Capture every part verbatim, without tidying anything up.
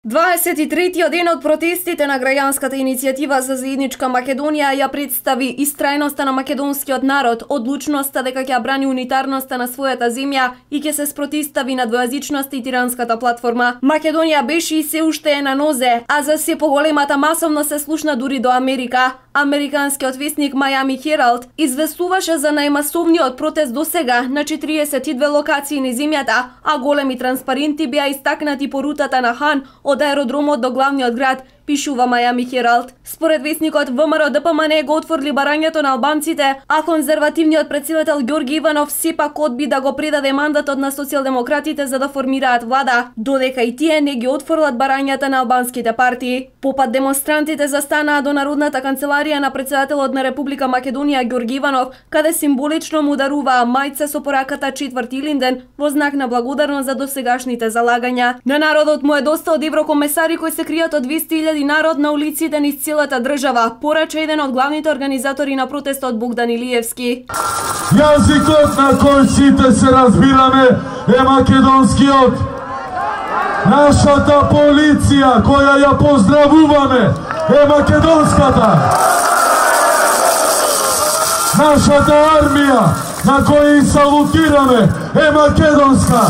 дваесет и третиот ден од протестите на граѓанската иницијатива за заедничка Македонија ја представи истрајноста на македонскиот народ, одлучноста дека ќе брани унитарноста на својата земја и ќе се спротивстави на двојазичноста и тиранската платформа. Македонија беше и се уште е на нозе, а за се поголемата масовно се слушна дури до Америка. Американскиот весник Miami Herald известуваше за најмасовниот протест досега на четириесет и две локации на земјата, а големи транспаренти беа истакнати по рутата на Хан од аеродромот до главниот град, пишува Miami Herald. Според весникот, ВМРО-ДПМН го отворили барањето на албанците, а конзервативниот претседател Ѓорги Иванов сепак одби да го предаде мандатот на социјалдемократите за да формираат влада, додека и тие не ги отфрлат барањата на албанските партии. Попат демонстрантите застанаа до Народната канцеларија на претседателот на Република Македонија Ѓорги Иванов, каде символично му даруваа мајца со пораката четврти Илинден во знак на благодарност за досегашните залагања. На народот му е доста од еврокомесари кои се кријат од двесте илјади народ на улиците низ целата држава, порача еден од главните организатори на протестот Богдан Илиевски. Јазикот на кој сите се разбираме е македонскиот. Нашата полиција која ја поздравуваме е македонската. Нашата армија на која и салутираме е македонска.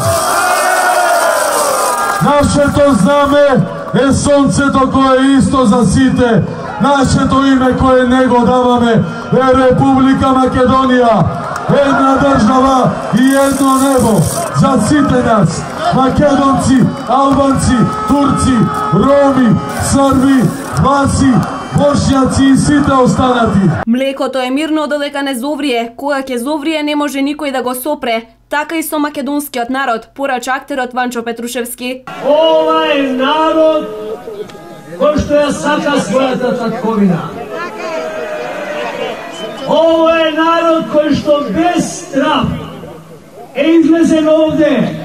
Нашето знаме е сонцето кое е исто за сите. Нашето име кое не го даваме е Република Македонија. Една држава и едно небо за сите нас. Македонци, албанци, турци, роми, срби, власи, бошњаци и сите останати. Млекото е мирно додека не зоврие. Кога ќе зоврие не може никој да го сопре. Така и со македонскиот народ, порача актерот Ванчо Петрушевски. Ова е народ кој што ја сака својата татковина. Ова е народ кој што без страх е излезен овде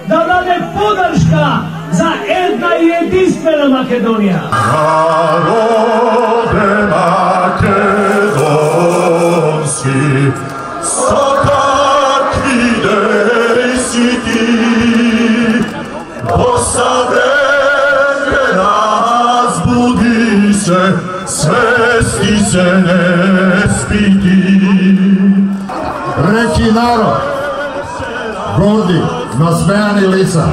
да даде подршка за една и единствена Македонија. Народе македонски, со какви дејси ти, посавреме разбуди се, свести се не спити. Реки народ, горди, насмејани лица,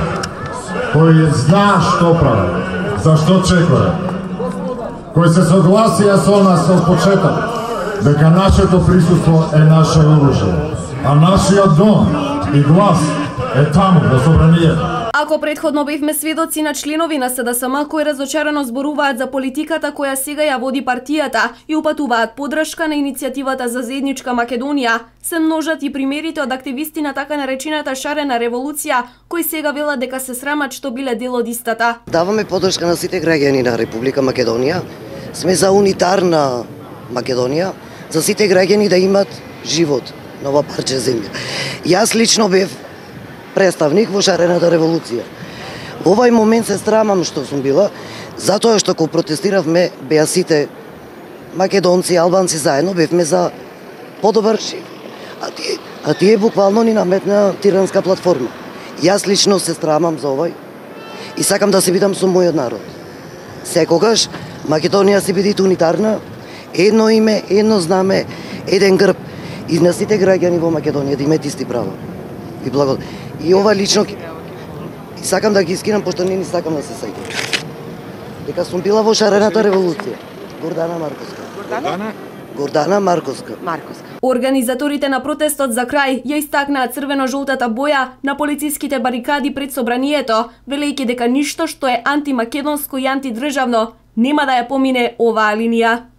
кои знаа што прават, зашто чекаат, кои се согласија со нас од почеток, дека нашето присуство е наше оружје, а нашиот дом и глас е таму во собранието. Ако предходно бевме сведоци на членови на СДСМ кои разочарано зборуваат за политиката која сега ја води партијата и упатуваат подршка на иницијативата за заедничка Македонија, се множат и примерите од активисти на така наречената шарена револуција, кои сега велат дека се срамат што биле дел од истата. Даваме подршка на сите граѓани на Република Македонија. Сме за унитарна Македонија, за сите граѓани да имат живот на ова парче земја. Јас лично бев представник во шарената револуција. Во овај момент се срамам што сум била, затоа што кога протестиравме беа сите македонци и албанци заедно, бевме за подобар живот. А тие, а тие буквално ни наметна тиранска платформа. Јас лично се срамам за овај и сакам да се видам со мојот народ. Секогаш Македонија се биде унитарна, едно име, едно знаме, еден грб и на сите граѓани во Македонија да имаат исти права. И благо. И ова лично и сакам да ги скинам пошто не ни сакам да се сеќам. Дека сум била во шарената револуција. Гордана Марковска. Гордана? Гордана Марковска. Марковска. Организаторите на протестот за крај ја истакнаа црвено-жолтата боја на полициските барикади пред собранието, велејќи дека ништо што е антимакедонско и антидржавно нема да ја помине оваа линија.